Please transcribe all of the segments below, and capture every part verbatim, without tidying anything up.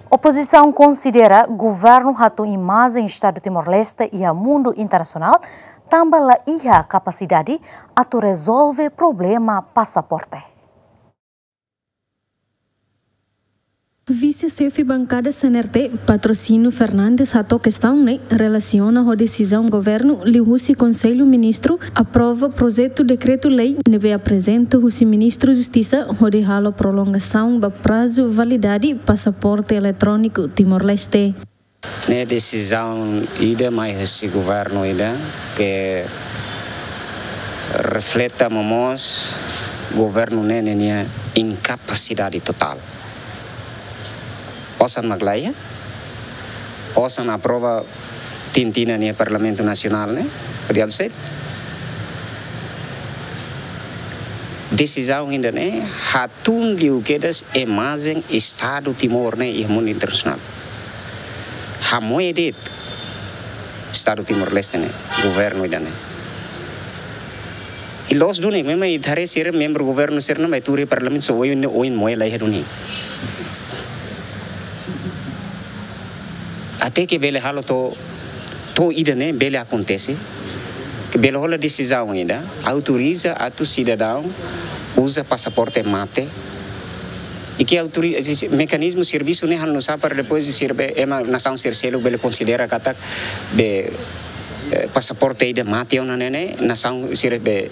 Opozisaun konsidera governu hatún imajen Estadu Timor-Leste iha mundu internasionál, tanba la iha kapasidade atu rezolve problema pasaporte. Vise-xefe bankada C N R T, Patrocínio Fernandes, hato'o kestaun ne'e relasiona ho desizaun governu liuhusi Konsellu Ministru aprova projetu dekretu-lei ne'ebé aprezenta husi Ministru Justisa hodi halo prolongasaun ba prazu validade pasaporte eletróniku Timor-Leste. Ne'e desizaun ida mai husi governu ida ke refleta momoos governu ne'e ninia inkapasidade totál. Osan mak la iha, osan aprova tintina nia Parlamentu Nasionál ne'e, hodi absente. Desizaun ida ne'e hatún liu kedas imajen Estadu Timor ne'e iha mundu internasionál. Hamoe de'it Estadu Timor-Leste ne'e, governu ida ne'e. I loos duni, memang ita haree sira membru governu sira ne'e mai tuur iha Parlamentu, só oin, oin moe la iha duni. Até ke bele halo to'o, to'o ida ne'e bele akontese, ke bele hola desizaun ida, autoriza atu sidadaun uza pasaporte mate. I ke autori-, mekanizmu servisu ne'e halo nu'usá para depois sira be, ema nasaun sira seluk bele konsidera katak be, eh, pasaporte ida mate ona ne'e ne'e, nasaun sira be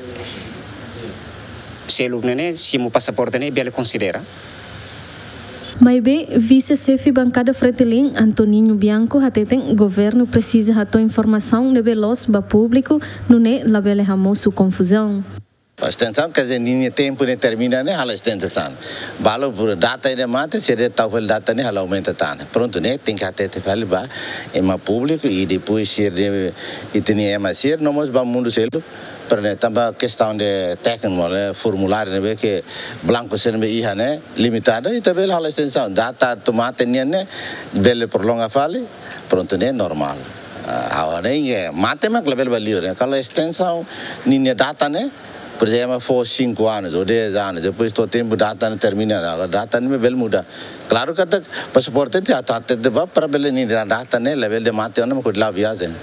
seluk ne'e ne'e, simu pasaporte ne'e bele konsidera. Maibé, vise-xefe bankada Fretilin, Antoninho Bianco, hateten governu presiza hato'o informasaun ne'ebé loos ba públiku, nune'e labele hamosu konfuzaun. Estensaun, quer dizer, ninia tempu ne'e termina ne'e halo estensaun. Balu por data ida mate, se de tau fali data ne'e halo aumenta tan. Prontu ne'e, tenke hatete fali ba ema públiku i depois sira de, i teni ema sira, no mós ba mundu seluk, para ne'e tanba kestaun de tékniku, ne'e, formuláriu ne'ebé ke blanku sira ne'ebé iha ne'e limitadu, ita bele halo estensaun. Data atu mate nian ne'e bele prolonga fali, prontu ne'e normál. Ah, agora ne'e mate mak labele ba liur, ne'e. Kalau estensaun ninia data ne'e, por ezemplu, fó cinco anos ou dez anos, depois to'o tempu data ne'e termina, agora data ne'e bele muda. Klaru katak pasaporte ita atu hatete ba para bele ninia data ne'e labele mate ona mak hodi la'o viajen.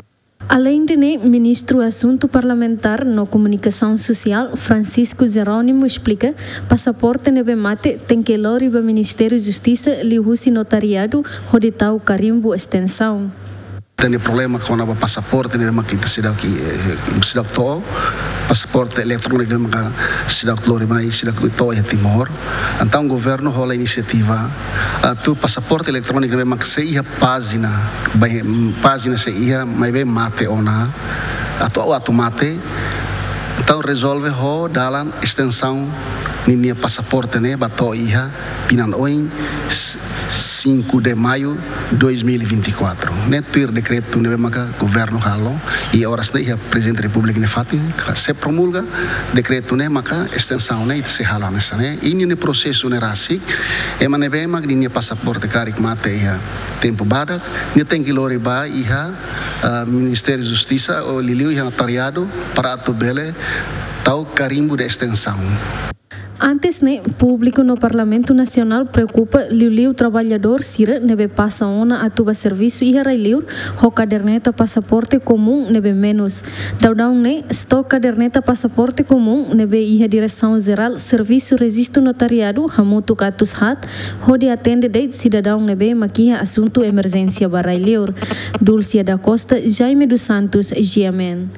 Aleinde ne'e, Ministru Asuntu Parlamentár no Komunikasaun Sosiál, Francisco Jerónimo, esplika, pasaporte ne'ebé mate tenke lori ba Ministériu Justisa liuhusi notariadu hodi tau karimbu estensaun. Tene problema kona-ba pasaporte ne'ebé mak ita seidauk, eh, seidauk to'o, pasaporte eletróniku ne'ebé mak seidauk lori mai, seidauk to'o iha Timor. Entaun governu hola inisiativa atu pasaporte eletróniku ne'ebé mak sei iha pájina, bai, mm, pájina sei iha, maibé mate ona, atu, atu mate. Entaun rezolve ho dalan estensaun ninia pasaporte ne'e ba to'o iha tinan oin, s-, cinco de maio dois mil e vinte e quatro. Ne'e tuir dekretu ne'ebé maka governu halo, i oras ne'e iha Prezidente Repúblika nia fatin, ka se promulga dekretu ne'e maka estensaun ne'e ita sei halo hanesan ne'e. I ninia prosesu ne'e rasik, ema ne'ebé mak ninia pasaporte karik mate iha tempu badak, nia tenke lori ba iha, ah, Ministériu Justisa ou liuliu iha notariadu para atu bele tau karimbu de estensaun. Antes ne'e, públiku no Parlamentu Nasionál preokupa liuliu traballadór sira ne'ebé pasa ona atu ba servisu iha rai-liur ho kaderneta pasaporte komún ne'ebé menus. Daudaun ne'e, stok kaderneta pasaporte komún ne'ebé iha Diresaun Jerál Servisu Rejistu Notariadu hamutuk atus haat, hodi atende de'it sidadaun ne'ebé mak iha asuntu emerjénsia ba rai-liur. Dulcia da Costa, Jaime dos Santos, G M N.